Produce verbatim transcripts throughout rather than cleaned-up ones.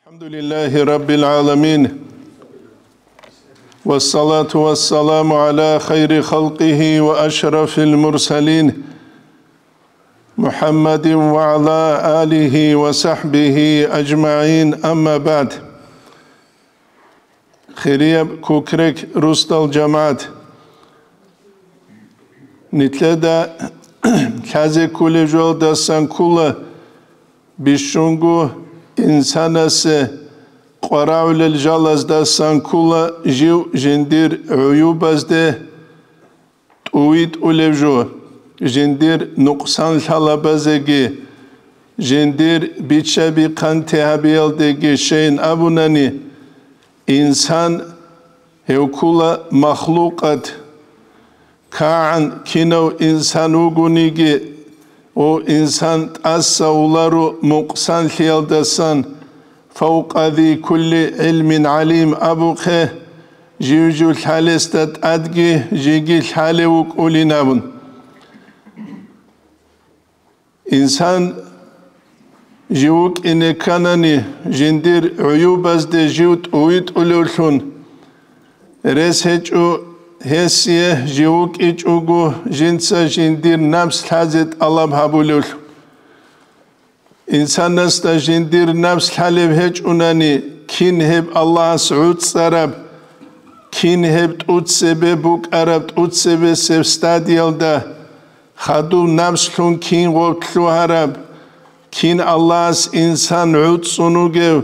الحمد لله رب العالمين، والصلاة والسلام على خير خلقه وأشرف المرسلين، محمد وعلى آله وصحبه أجمعين، أما بعد. Хирияб Кукрек русдал жамагӀат, нилъеда лъазе кколеб жоялдасан ккола, бищунго инсанасе къварагӀулел жалаздасан ккола жив жиндир гӀуюбазде тӀувитӀулев жо, жиндир нукъсан лъалабазеги, жиндир бича-бихъанте гьабиялдеги щейин абунани, инсан гьев ккула махлукъат. КагӀан кинав инсан вугониги, ва инсан тӀаса вуларо мукъсанлъиялдасан, «Фавкъа зи кулли гӀилмин гӀалим» абухъе, жив-жив лъалесда тӀадги жеги лъалев вукӀулин абун. Инсан жив вукӀине кканани, жиндир гӀуюбазде жив тӀувитӀулевлъун, рес гьечӀо гьесие жив вукӀичӀого жинца жиндир напс лъазе тӀалаб гьабулевлъун. Инсанасда жиндир напс лъалеб гьечӀунани, кин гьеб Аллагьас гӀуцӀараб, кин гьеб тӀуцебе букӀараб, тӀуцебесеб стадиялда хадуб напслъун кин гъоб лъугьараб, кин Аллагьас инсан гӀуцӀцӀун вугев,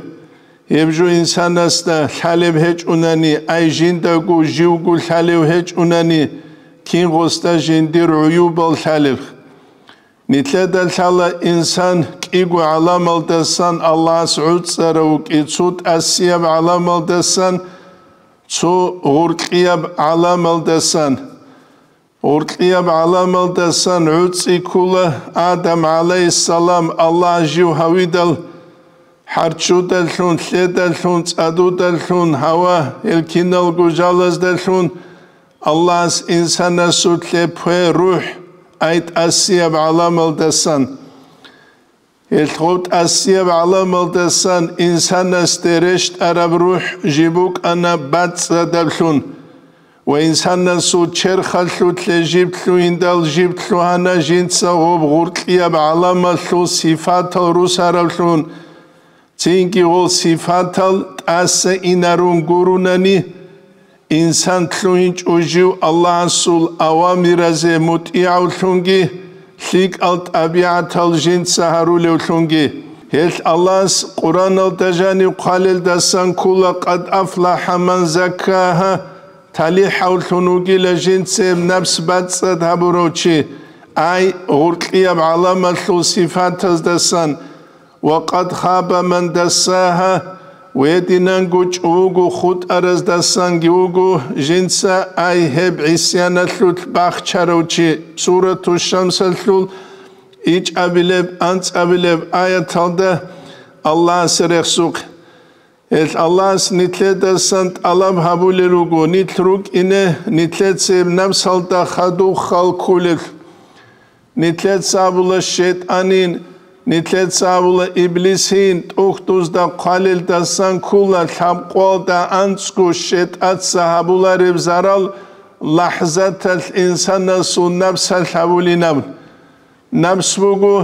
гьеб жо инсанасда лъалеб гьечӀунани, ай жиндаго живго лъалев гьечӀунани, кин гъосда жиндир гӀуюбал лъалеб. Нилъеда лъала инсан кӀиго гӀаламалдасан Аллагьас гӀуцӀарав вукӀи, цо тӀасияб гӀаламалдасан, цо гъуркьияб гӀаламалдасан. Гъуркьияб гӀаламалдасан гӀуцӀи ккула Адам гӀалайгьиссалам, Аллагь жив гьавидал, хӀарччудалъун, лъедалъун, цӀадудалъун, гьава, гьел киналго жалаздалъун Аллагьас инсанасулъе пе рухӀ, ай тӀасияб гӀаламалдасан. Гьелъ гъов тӀасияб гӀаламалдасан инсанасде рещтӀараб рухӀ жиб букӀана бацӀцӀадаблъун. Ва инсанасул черхалъулъе жиб лъугьиндал жиб лъугьана жинца гъоб гъуркьияб гӀаламалъул сифатал русараблъун. Цинги гъол сифатал тӀаса инарун гурунани, инсан лъугьинчӀо жив Аллагьасул авамиразе мутӀигӀавлъунги, лъикӀал тӀабигӀатал жинца гьарулевлъунги. Гьелъ Аллагьас Къуръаналда жанив хъвалелдасан ккула: «Къад афлахӀа ман заккагьа», талихӀавлъун вугила жинцеб напс бацӀцӀад гьабурав чи, ай гъуркьияб гӀаламалъул сифатаздасан, «Ва къад хаба ман дассагьа», гьединанго чӀугу хутӀараздасанги вуго жинца, ай гьеб гӀисяналъулъ бахчарав чи. Сурату Шамсалъул ичӀабилеб, анцӀабилеб аяталда Аллагьас рехсухъ. Гьелъ Аллагьас нилъедасан тӀалаб гьабулел руго, нилъ рукӀине, нилъеца гьеб напсалда хадуб хал кколел. Нилъеца абула шайтӀанин, нилъеца абула иблисин, тӀухьдузда хъвалелдасан ккула лъабкъоялда анцӀго шайтӀаца гьабулареб зарал лахӀзаталъ инсанасул напсалъ гьабулинаб. Напс буго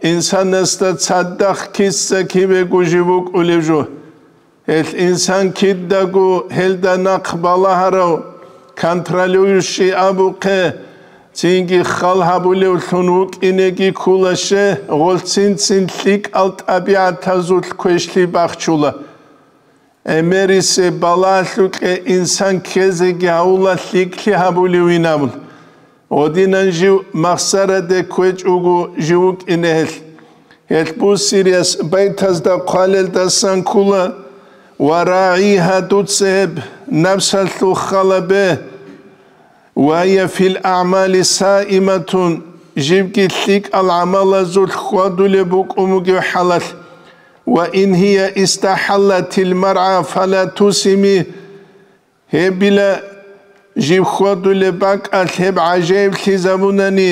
инсанасда цадахъ киса-кибего жиб букӀулев жо. Гьелъ инсан кидаго гьелда нахъ балагьарав, контролирующий абухъе, цинги хал гьабулевлъун вукӀинеги ккула, щай гъолцин-цин лъикӀал тӀабигӀатазулъ квешлъи бахчула. ГӀемерисеб балагьалъукье инсан ккезеги гьавула лъикӀлъи гьабулевин абун. Гъодинан жив махсараде кквечӀого жив вукӀине гьелъ. Гьелъ буссириялъ байтазда хъвалелдасан ккула: «Ва рагӀигьа», дуца гьеб напсалъул хал гьабе, «ва гьия фил агӀмали саиматун», жибги лъикӀал гӀамалазулъ хьвадулеб букӀун бугеб хӀалалъ, «ва ин гьия истахӀаллатил маргӀа фала тусими», гьебила жиб хьвадулеб бакӀалъ гьеб гӀажаиблъизабунани,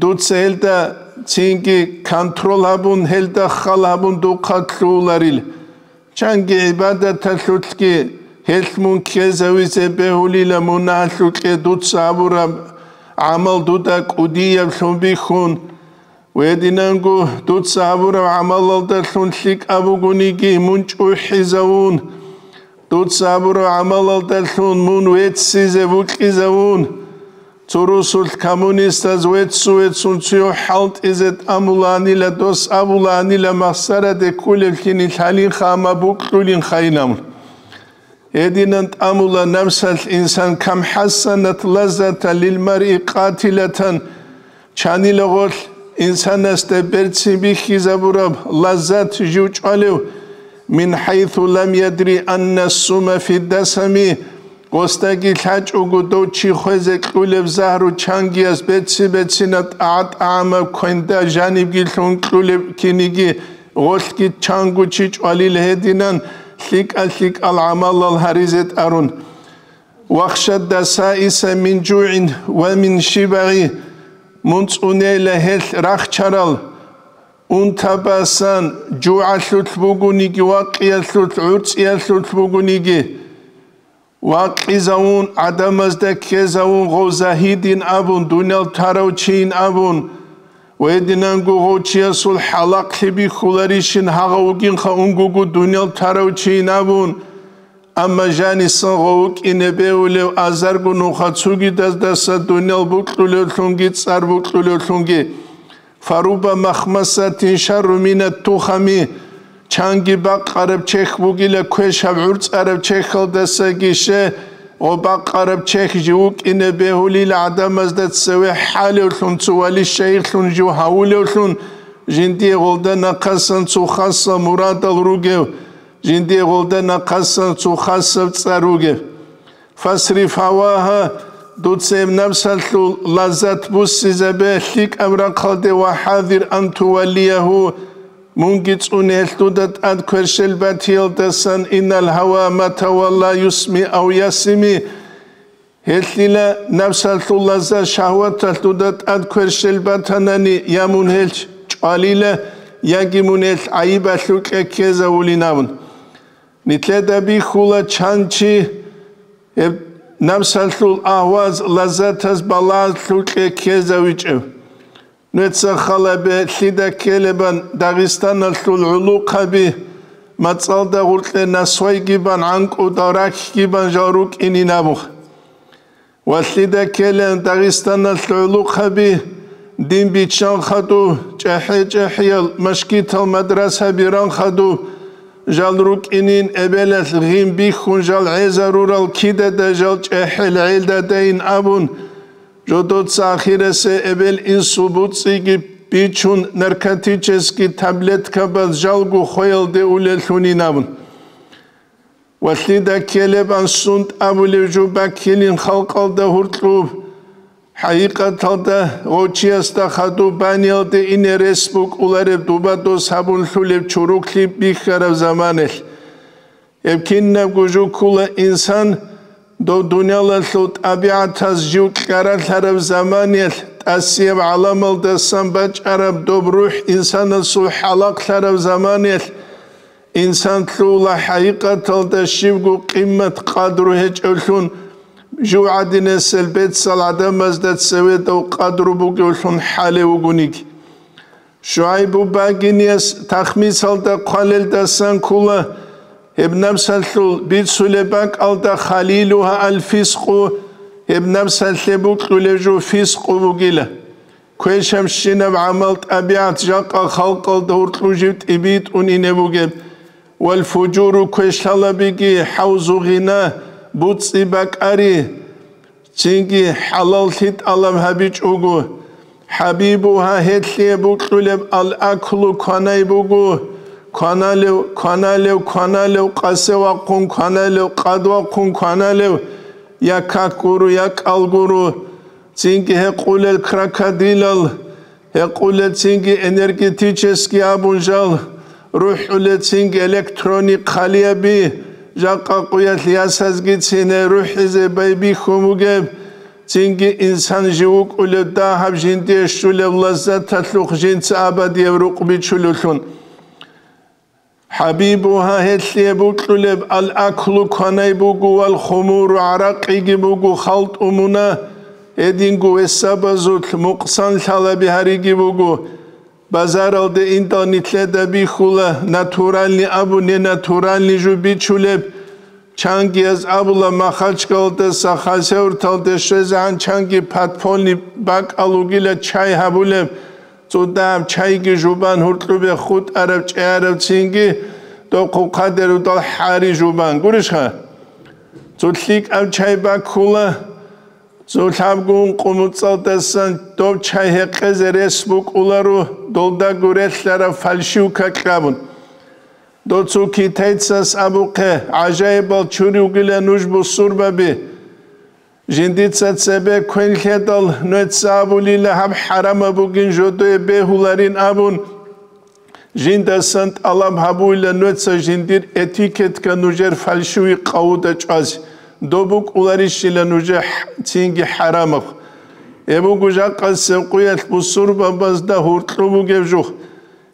дуца гьелда цинги контрол гьабун, гьелда хал гьабун духъа лъугьуларил. Чанги гӀибадаталъулъги гьелъ мун ккезавизе бегьулила мунагьалъукье дуца гьабураб гӀамал дуда кӀудияблъун бихьун. Гьединанго дуца гьабураб гӀамалалдалъун лъикӀаб бугониги мун чӀухӀизавун, дуца гьабураб гӀамалалдалъун мун веццизе вукьизавун, цо русулъ коммунистаз веццу-веццун цуяв хӀалтӀизе тӀамулаанила, дос абулаанила махсараде кколеблъи нилъ гьалинха, амма букьулинха инан. Гьединан тӀамула напсалъ инсан: «Кам хӀассанат лаззата лил маръи къатилатан», чанила гъолъ инсанасда берцин бихьизабураб лаззат жив чӀвалев, «мин хӀайсу лам ядри анна ссума фи ддасами», гъосдаги лъачӀого дов чи хвезе кьулеб загьру чангияс беци-бецина тӀагӀа-тӀагӀамаб квенда жанибги лъун кьулеб киниги гъолъги чанго чи чӀвалил гьединан лъикӀал-лъикӀал гӀамалал гьаризе тӀарун. «Вахша ддасаиса мин жугӀин ва мин шибагӀи», мун цӀунейила гьелъ рахчарал, унтабасан, жугӀалъулъ бугониги, вакъиялъулъ, гӀурцӀиялъулъ бугониги. Вакъизавун, гӀадамазда ккезавун, гъов загьидин абун, дуниял тарав чийин абун, ва гьединанго гъов чиясул хӀалахълъи бихьуларищин гьагъав вугинха унгого дуниял тарав чийин абун, амма жанисан гъов вукӀине бегьулев азарго нуха цугидаздаса дуниял букьулевлъунги цӀар букьулевлъунги. «Фарубба махмасатин шарру минат тухами», чанги бакъараб чехь бугила квешаб гӀурцӀараб чехьалдасаги, ще гъо бакъараб чехь жив вукӀине бегьулила гӀадамазда цеве хӀалевлъун, цо вали-шайихлъун жив гьавулевлъун, жиндие гъолда нахъасан цо хасаб мурадал ругев, жиндие гъолда нахъасан цо хасаб цӀар ругев. «Фасриф гьавагьа», дуца гьеб напсалъул лаззат буссизабе лъикӀаб рахъалде, «ва хӀазир ан туваллиягьу», мунги цӀуне гьелъ дуда тӀад кверщел батиялдасан, «иннал гьава мата валла юсми ав ясими», гьелъила напсалъул лаззат шагьваталъ дуда тӀад кверщел батанани, я мун гьелъ чӀвалила, яги мун гьелъ гӀайибалъукье ккезавулин абун. Нилъеда бихьула чан чи гьеб напсалъул агьваз, лаззатаз балагьлъукье ккезавичӀев. Нуеца халабе лъида ккелебан Дагъистаналъул гӀулухъаби, мацӀалда гъуркье насвайги бан, гӀанкӀудал рахьги бан жал рукӀинин абун. Ва лъида ккелан Дагъистаналъ гӀулухъаби, дин биччан хадуб, чӀахӀи-чӀахӀиял машгитал мадрасаби ран хадуб, жал рукӀинин эбелалъ гъин бихьун жал гӀезарурал кидада жал чӀахӀел гӀелдадайин абун, жодоца ахирасе эбел-инсул буцӀиги бичун наркотический таблеткабаз жалго хвеялде улеллъунин абун. Ва лъида ккелеб ансун тӀабулев жо баккилин халкъалда гьуркьуб, хӀакъикъаталда гъочиясда хадуб баниялде ине рес букӀулареб дуба дос гьабунлъулеб чуруклъи бихьараб заманалъ. Гьеб кинабго жо ккула инсан дов дуниялалъул тӀабигӀатаз жив кьаралъараб заманалъ, тӀасияб гӀаламалдасан бачӀараб доб рухӀ инсанасул хӀалахълъараб заманалъ, Инсан лъугьула хӀакъикъаталда щибго къимат-къадру гьечӀевлъун, жугьадинасел бецал гӀадамазда цеведав къадру бугевлъун хӀалев вугониги. ШугӀайбу багинияс тахмисалда хъвалелдасан ккула, гьеб напсалъул бицулеб бакӀалда халилугьа аль-фискъу, гьеб напсалъе букьулев жо фискъу бугила. Квешабщинаб гӀамал-тӀабигӀат жакъа халкъалда гьуркьу жив тӀибитӀун ине бугеб. Вал фужуру квешлъалабиги хӀавзу гъина, буцӀи бакӀари, цинги хӀалаллъи тӀалаб гьабичӀого. ХӀабибугьа гьелъие букьулеб ал-аклу кванай буго, кваналев, кваналев, кваналев, къасе вахъун кваналев, къад вахъун кваналев, я как гуро, я кӀал гуро. Цинги гьекъулел крокодилал, гьекъулел цинги энергетический абун жал, рухӀулел цинги электроник халияби, жакъа къуялъ ясазги цин рухӀизе байбихьун бугеб, цинги инсан жив вукӀулев дагьаб жиндие щулев лаззаталъухъ жинца абадияб рукъ бичулевлъун. ХӀабибугьа гьелъие букьулеб ал-аклу кванай буго вал хумуру гӀаракъиги буго халтӀумуна, гьединго весабазулъ мукъсан лъалаби гьариги буго. Базаралде индал нилъеда бихьула натуральный абу ненатуральный жо бичулеб. Чангияз абула Махачкалдаса Хасавюрталде щвезегӀан чанги подпольный бакӀал вугила чай гьабулеб. ЦӀудаб чайги жубан гьуркьубе хутӀараб чӀеараб цинги дохъухъа дерудал хӀари жубан. Гурищха? Цо лъикӀаб чай баккула, цо лъабгун къумуцӀалдасан доб чай гьекъезе рес букӀуларо, долдаго релълъараб фальшивка кьабун. Доцо китайцас абухъе, гӀажаибал чури вугила нуж бусурбаби. Жиндица цебе квен лъедал, нуеца абулила гьаб хӀарамаб бугин жодое бегьуларин абун, жиндасан тӀалаб гьабуила нуеца жиндир этикетка нужер фальшивый къавуда чӀвазе, доб букӀуларищила нужер хӀ-, цинги хӀарамаб. Гьеб буго жакъасеб къуялъ бусурбабазда гьуркьу бугеб жух.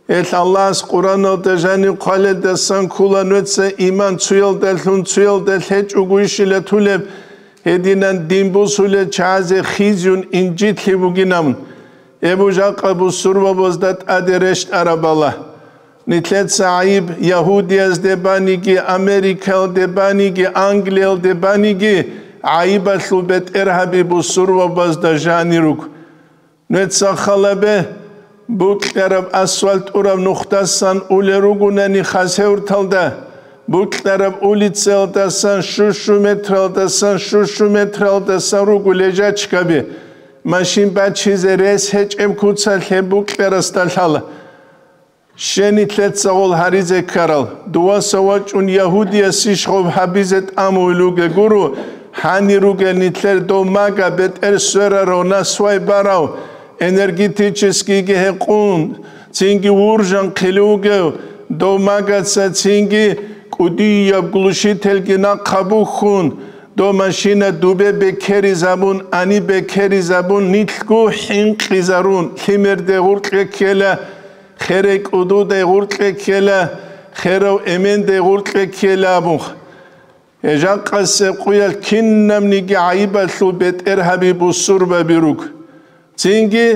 Гьелъ Аллагьас Къураналда жанив хъвалелдасан ккула нуеца иман цуялдалъун цуялда лъечӀого ишила тулеб, гьединан дин бусулел чагӀазе хизюн инжитлъи бугинабун. Гьеб жакъа бусурбабазда тӀаде рещтӀарабала. Нилъеца гӀайиб Ягьудиязде баниги, Америкаялде баниги, Англиялде баниги, гӀайибалъул бетӀергьаби бусурбабазда жанир руго. Нуеца халабе, букьараб асфальт тӀураб нухдасан улел ругонани Хасавюрталда, букьараб улицаялдасан щущу метралдасан щущу метралдасан руго лежачкаби, машин бачизе рес гьечӀеб куцалъ гьеб букьарасда лъала. Щени лъецагъул гьаризе ккарал, дуваса вачӀун ягьудиясищ гъоб гьабизе тӀамуй луге гуро, гьани ругел нилъер дов мага бетӀер сверарав, насвай барав, энергетическийги гьекъун, цинги вуржан хъилугев, дов магаца цинги кӀудияб глушительги нахъа бухьун, дов машина дубе бекеризабун, ани бекеризабун, нилъго хӀинкъизарун, лъимерде гъуркье ккела, херей кӀудудай гъуркье ккела, херав эмендай гъуркье ккела абун. Гьеб жакъасеб къуялъ кинабниги гӀайибалъул бетӀергьаби бусурбаби руго. Цинги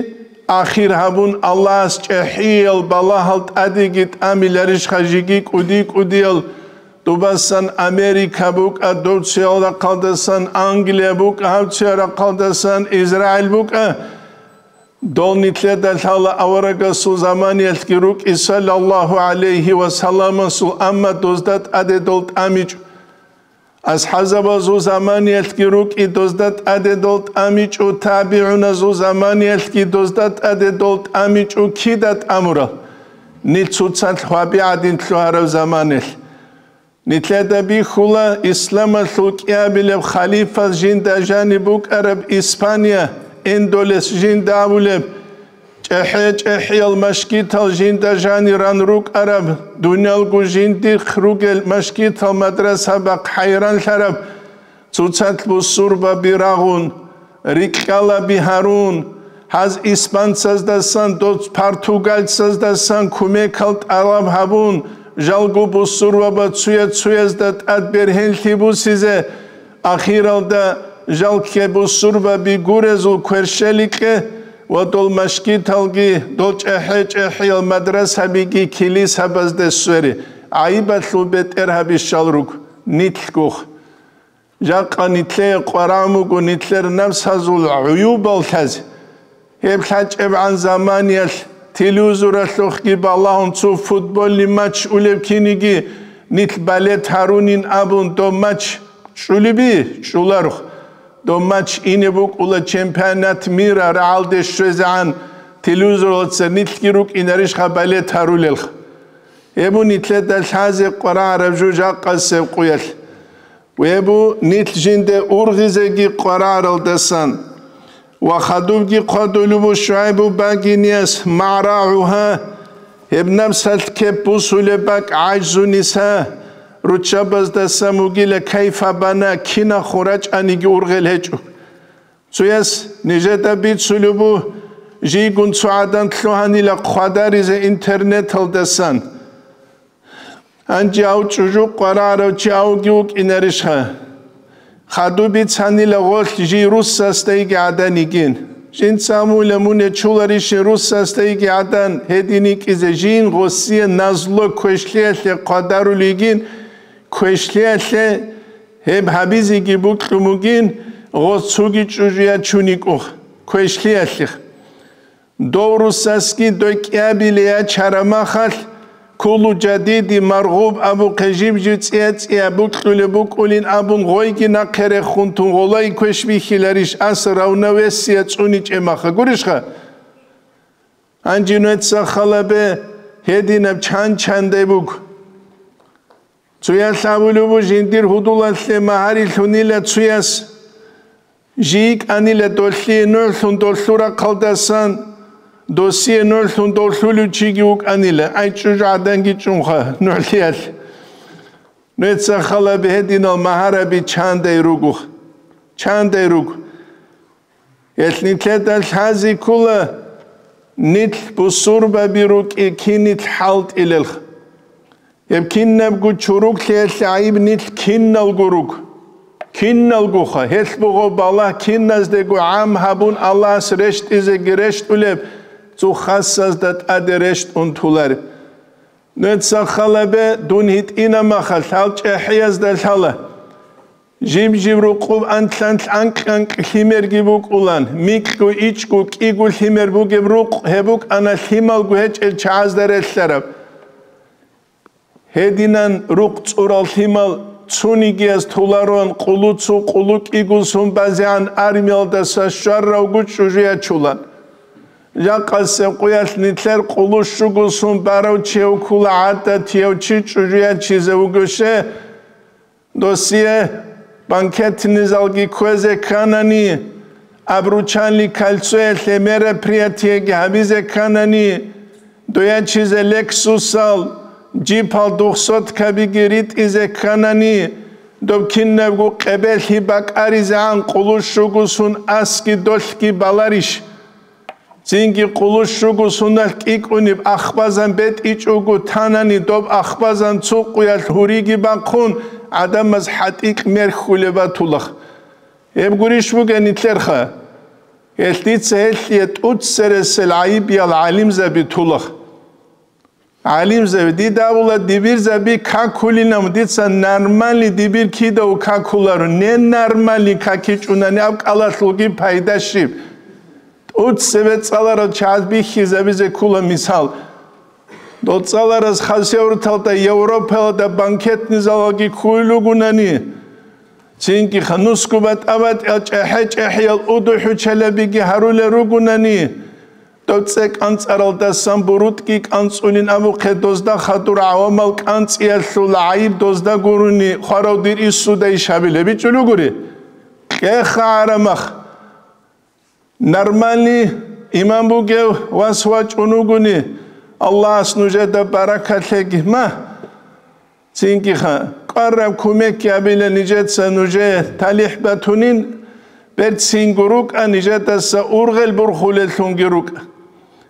ахир гьабун Аллагьас чӀехӀиял балагьал тӀадеги тӀамиларищха жеги кӀуди-кӀудиял, дубасан Америка букӀа, дов цоял рахъалдасан Англия букӀа, гьав цоял рахъалдасан Израиль букӀа, Дол нилъеда лъала аварагасул заманиялъги рукӀи, саллаллагьу гӀалайгьи ва салламасул, амма дозда тӀаде дол тӀамичӀо. АсхӀазабазул заманиялъги рукӀи, дозда тӀаде дол тӀамичӀо, табигӀуназул заманиялъги дозда тӀаде дол тӀамичӀо, кида тӀамурал? Нилъ цоцалъ гьваби гӀадин лъугьараб заманалъ. Нилъеда бихьула исламалъул кӀиабилеб халифа жинда жаниб букӀараб Испания, Эндолес жинда абулеб, чӀехӀе-чӀехӀиял машгитал жинда жанир ран рукӀараб, дунялго жиндихъ ругел машгитал мадрасабахъ хӀайранлъараб, цоцалъ бусурбаби рагъун, рикьалаби гьарун, гьаз испанцаздасан, доц португальцаздасан кумекал тӀалаб гьабун, жалго бусурбаба цуя-цуязда тӀад бергьенлъи бусизе, ахиралда жалкье бусурбаби гурезул кверщеликье ва дол машгиталги, дол чӀехӀе-чӀехӀиял мадрасабиги килисабазде свере, гӀайибалъул бетӀергьабищал руго, нилъгухъ. Жакъа нилъее къварагӀун буго нилъер напсазул гӀуюбал лъазе. Гьеб лъачӀебгӀан заманиялъ телевизоралъухъги балагьун цо футбольный матч улеб киниги, нилъ балет гьарунин абун доб матч чӀулеби? ЧӀуларухъ. Доб матч ине букӀула чемпионат мира рагӀалде щвезегӀан телевизоралца нилъги рукӀинарищха балет гьарулелха? Гьеб нилъеда лъазе къварагӀараб жо жакъасеб къуялъ. Гьеб нилъ жинде ургъизеги къварагӀаралдасан ва хадубги хъвадулеб ШугӀайбу багинияс магӀрагӀугьа, гьеб напсалъ кеп бусулеб бакӀ гӀажзуниса, руччабаздасан вугила кайфа бана кинахъун рачӀаниги ургъел гьечӀо. Цояс нижеда бицулеб бу, жийгун цо гӀадан лъугьанила хъвадаризе интернеталдасан. Гьанже гьав чӀужу къварагӀарав чи авги вукӀинарищха? Хадуб бицанила гъолъ жий руссасдайги гӀадан йигин. Жинца амула мун ячуларищин руссасдайги гӀадан гьедин йикӀизе, жин гъосие назло квешлъиялъе хъвадарулей йигин, квешлъиялъе гьеб гьабизеги букьун бугин, гъос цоги чӀужу ячун йикӀухъ, квешлъиялъех. Дов руссасги дой кӀиабиле ячараб махалъ, кулу жадиди маргъуб абухъе жиб-жиб цӀия-цӀия букьулеб букӀулин абун гъойги нахъе рехун тун гъолай квеш бихьиларищ ас равновесие цӀуничӀеб маха гурищха? Гьанже нуеца халабе гьединаб чан-чандай буго. Цуяс абулеб буго жиндир гьудулалъе магьари лъунила цуяс, жий йикӀанила долъие нугӀлъун долъул рахъалдасан, досие нугӀлъун долъулев чиги вукӀанила, ай чӀужу гӀаданги чӀунха нугӀлъиялъ. Нуеца халабе гьединал магьараби чандай руго, чандай руго. Гьелъ нилъеда лъази ккола, нилъ бусурбаби рукӀи кинилъ хӀалтӀилелха. Гьеб кинабго чуруклъиялъе гӀайиб нилъ киналго руго. Киналгоха, гьелъ буго балагь киназдего гӀам гьабун Аллагьас рещтӀизеги рещтӀулеб, цо хасазда тӀаде рещтӀун толареб. Нуеца халабе дун гьитӀина махалъ гьал чӀехӀиязда лъала. Жиб-жиб рукъуб анлъ-анлъ анкь-анкь лъимерги букӀулан, микьго, ичӀго, кӀиго лъимер бугеб рукъ гьеб букӀана лъималго гьечӀел чагӀазда релълъараб. Гьединан рукъ цӀурал лъимал цунигияз толароан къулу цу къулу кӀигусун базегӀан армиялдаса щварравго чӀужу ячулан. Жакъасеб къуялъ нилъер къулу щугусун барав чи гьев ккула гӀадатияв чи чӀужу ячизе вугоше, досие банкетный залги кквезе кканани, обручальный кольцоялъе мероприятиеги гьабизе кканани, доячизе лексусал, джипал двухсоткабиги ритӀизе кканани, доб кинабго къебелъи бакӀаризегӀан къулу щугусун асги долъги баларищ? Цинги къулу щугусуналъ кӀикӀуниб ахбазан бетӀичӀого танани, доб ахбазан цу къуялъ гьуриги бахъун, гӀадамаз хӀатӀикь мерхьулеб батулах. Гьеб гурищ бугеб нилъерха? Гьелъ дица гьелъие тӀуцересел гӀайибиял гӀалимзаби тулах. ГӀалимзаби, дида абула, дибирзаби какулинав, дица нормальный дибир кидав какуларо, ненормальный какичӀунани аб кӀалалъулги пайда щиб? ТӀуцебе цӀаларал чагӀаз бихьизабизе ккула мисал. Дол цӀалараз хасавурталда Европаялда банкетный залалги ккулел ругунани, цинги ханусго батӀа-батӀиял чӀехӀе-чӀехӀиял удухӀучалабиги гьарулел ругунани, дов цӀе кӀанцӀаралдасан бурутӀги кӀанцӀулин абухъе, дозда хадур гӀавамал кӀанцӀиялъул гӀайиб дозда гурони хварав дир исуда иш гьабилеб бичӀчӀулугури? Кьеха гӀарамах! Нормальный иман бугев вас вачӀун вугони, Аллагьас нужеда баракат лъеги. Ма, цинги ха, кӀвараб кумекги гьабила нижеца нужее талихӀ батунин, берцинго рукӀа, нижедаса ургъел бурхулеллъунги рукӀа.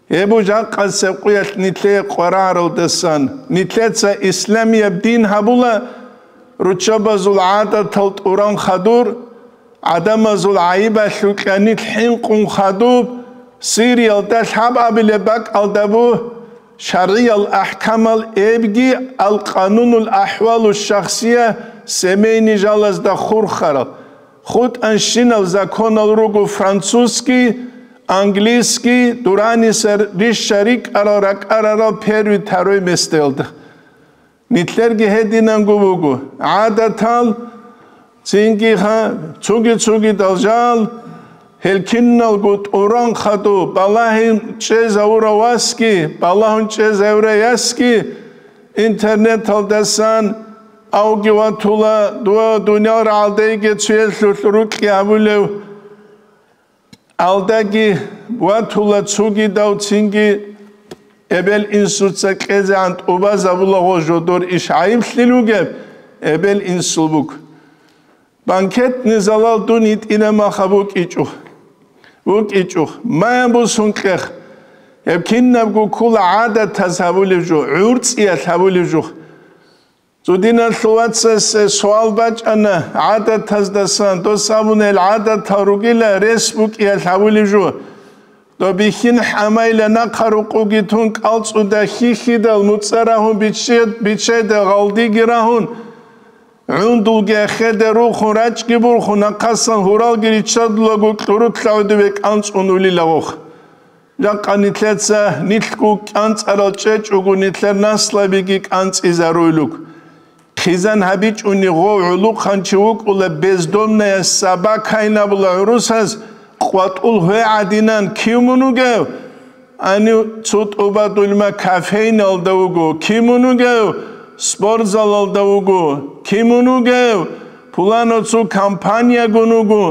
Гьеб жакъасеб къуялъ нилъее къварагӀаралдасан, нилъеца исламияб дин гьабула, руччабазул гӀадатал тӀуран хадур, гӀадамазул гӀайибалъул кьанилъ хӀинкъун хадуб, Сириялда лъабабилеб бакӀалда бу, шаргӀиял ахӀкамал эбги, ал-къанунул ахӀвалу шахсия, семейный жалазда хурхарал, хутӀанщинал законал руго французский, английский, дураниса рища рикӀарал ракӀарарал первый, второй местаялда. Нилъерги гьединанго буго, гӀадатал, цинги ха-, цуги-цугидал жал, гьел киналго тӀуран хадуб, балагьун чӀезавурав васги, балагьун чӀезавурав ясги, интернеталдасан авги ватула, дова дуниял рагӀалдайги цуялъулъ рукьи гьабулев, алдаги ватула цугидав цинги эбел-инсуца кьезегӀан тӀубазабулаго жодор иш гӀайиблъи ругеб эбел-инсул буго. Банкетный залал дун йитӀина маха букӀичӀо. БукӀичӀо. Мая бусун кьех. Гьеб кинабго ккула гӀадатаз гьабулев жо, гӀурцӀиялъ гьабулев жо. Цо диналъул вацасе суал бачӀана гӀадатаздасан, дос абуна, гьел гӀадатал ругила рес букӀиялъ гьавулеб жо. Доб бихьин хӀамайла нахъа рукъуги тун, кӀалцӀуда хьихьидал, муцӀа рагьун, биччи-, биччайда гъалдиги рагьун, гӀундулги эхеде рухун, рачӀги бурхун, нахъасан гьуралги риччадулаго кьурулъа гӀодове кӀанцӀун улила гъох. Жакъа нилъеца нилъго кӀанцӀарал чӀечӀого, нилъер наслабиги кӀанцӀизаруйлуг. Хъизан гьабичӀони гъов гӀулухъанчи вукӀула, бездомная собака гьабула гӀурусаз, къватӀул гьвегӀ гӀадинан кив мун вугев? Гьанив цо тӀубадулма кофейналда вуго, кив мун вугев? Спортзалалда вуго, кив мун вугев? Пулано цо компаниягун вуго.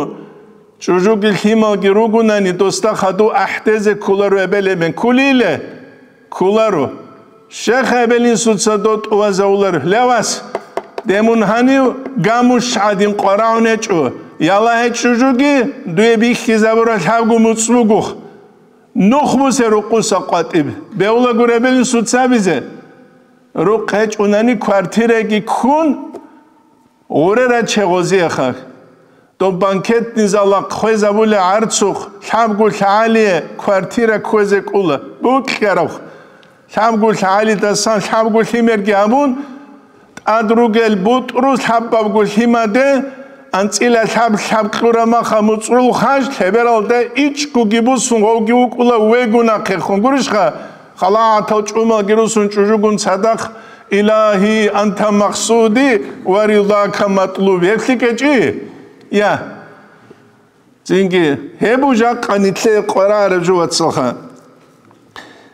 ЧӀужуги лъималги ругунани, досда хадув ахӀдезе кколаро эбел-эмен. Кколиле? Кколаро. Щех эбел-инсуца дов тӀувазавуларо. Ле, вас, де мун гьанив гамущ гӀадин къварагӀун гьечӀо. Яла гьечӀо чӀужуги, дуе бихьизабураб лъабго муцӀ бугоха. Нух бусе рукъуса къватӀиб. Бегьула гури эбел-инсуца абизе. Рукъ гьечӀунани квартираги ккун, гъуре раче гъозиеха. Доб банкетный зала хвезабула гӀарцухъ, лъабго лъагӀалие квартира кквезе кӀула, букьараб. Лъабго лъагӀалидасан лъабго лъимерги гьабун, тӀад ругел бутӀру лъабабго лъимаде, анцӀила лъаб-лъаб кьурамаха муцӀрул хъаж, лъебералда ичӀгоги бусун гъовги вукӀула вегун ахъехун. Гурищха? ХалагӀатал чӀумалги русун чӀужугун цадахъ: «Илагьи, анта максуди ва ридака матлуби». Гьеблъи кӀечӀи? Я. Цинги, гьеб жакъа нилъее къварагӀараб жо, вацалха.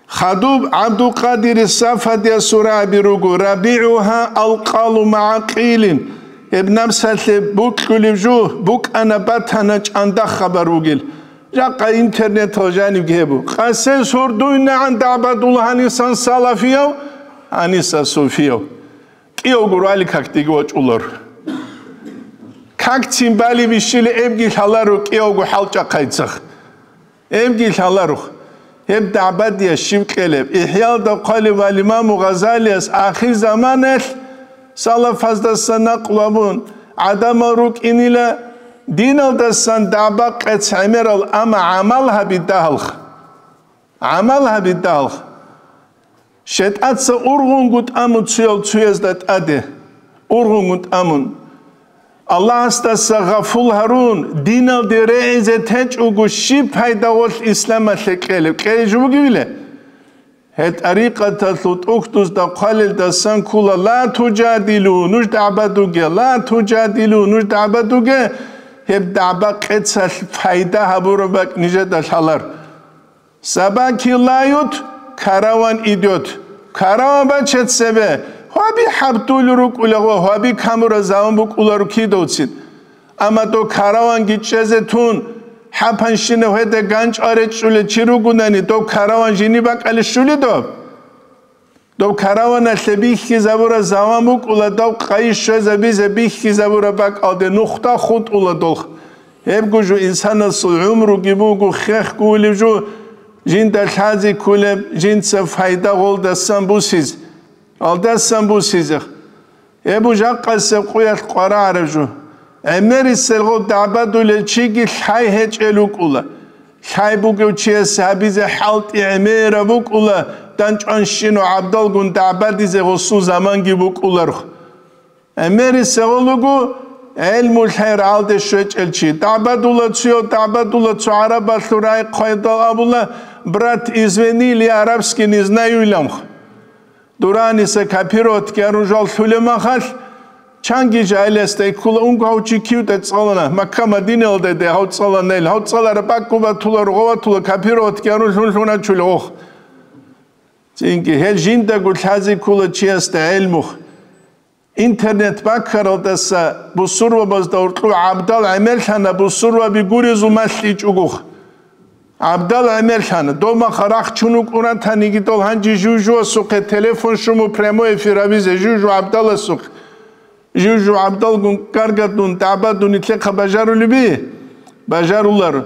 Хадуб ГӀабдулкъадири Сафадиясул рагӀаби руго, рабигӀугьа алкъалу магӀа къилин. Гьеб напсалъе букьулеб жо букӀана батана чӀанда хабар бугел. Жакъа интернетал жанибги гьеб бу. Къасес гьордуйнагӀан дагӀбадул гьанисан салафияв, гьаниса суфияв. КӀиявго руали какдеги вачӀулар. Какцин бали бищили эбги лъаларо кӀиявго хӀалчӀахъайцах. Эбги лъаларо. Гьеб дагӀбадия щив кьелеб? ИхӀялда хъвалев вал имаму Гъазалияс ахирзаманалъ салафаздасан накълу абун, гӀадамал рукӀинила диналдасан дагӀба къец гӀемерал, амма гӀамал гьаби дагьалха. ГӀамал гьаби дагьалха. ШетӀаца ургъунгутӀамун цуял цуязда тӀаде, ургъунгутӀамун. Аллагьасдаса гъафул гьарун, диналде регӀизе течӀого щиб пайда гъолъ исламалъе кьелеб? Кьезе жо бугевиле? Гьеб тӀарикъаталъул тӀухьдузда хъвалелдасан ккула: «Ла тужадилу», нуж дагӀбадуге, «ла тужадилу», нуж дагӀбадуге, гьеб дагӀба къецалъ пайда гьабураб бакӀ нижеда лъалар. Собаки лают, караван идёт. Караван баче цебе, гьаби хӀабдул рукӀула гъо, гьаби камура заман букӀуларо кидавцин. Амма дов караванги чӀезе тун, хӀапанщинав гьеда ганчӀ аречӀулел чи ругунани, дов караван жини бакӀалищ щули доб? Дов караваналъе бихьизабураб заман букӀула, дов къайи щвезабизе бихьизабураб бакӀалде нухда хутӀула долх. Гьебго жо инсанасул гӀумруги буго, хехго улеб жо, жинда лъази кколеб, жинца файда гъолдасан бусиз, алдасан бусизех. Гьеб жакъасеб къуялъ къварагӀараб жо. ГӀемерисел гъов дагӀбадулел чиги лъай гьечӀел рукӀула. Лъай бугев чияс гьабизе хӀалтӀи гӀемераб букӀула, дандчӀванщинав гӀабдалгун дагӀбадизе гъосул заманги букӀуларх. ГӀемерисел гъов вуго гӀелму лъай рагӀалде щвечӀел чи. ДагӀбадула цуяв, дагӀбадула цо гӀарабалъул рагӀи хъвайдал абула: «Брат, извини, я арабский не знаю», — иланха. Дураниса копировать гьарун жал лъулеб махалъ, чанги жагьиласда ккула, унго гьав чи кивда цӀалана, Макка-Мадиналда де гьав цӀалана ил, гьав цӀалараб бакӀго батула, ругъа батула, копировать гьарун лъун-лъуначул гъох. Цинги гьел жиндаго лъази ккула чиясда гӀелму. Интернет баккаралдаса бусурбабазда гьоркьов гӀабдал гӀемерлъана, бусурбаби гурезул малъичӀогох. ГӀабдал гӀемерлъана, дов махъа рахчун вукӀун ратаниги дол гьанже жужуасухъе телефон щуму прямой эфир гьабизе, жужу гӀабдаласухъе. Жужу гӀабдалгун, гаргадун, дагӀбадун нилъехъа бажарулеби? Бажарулар.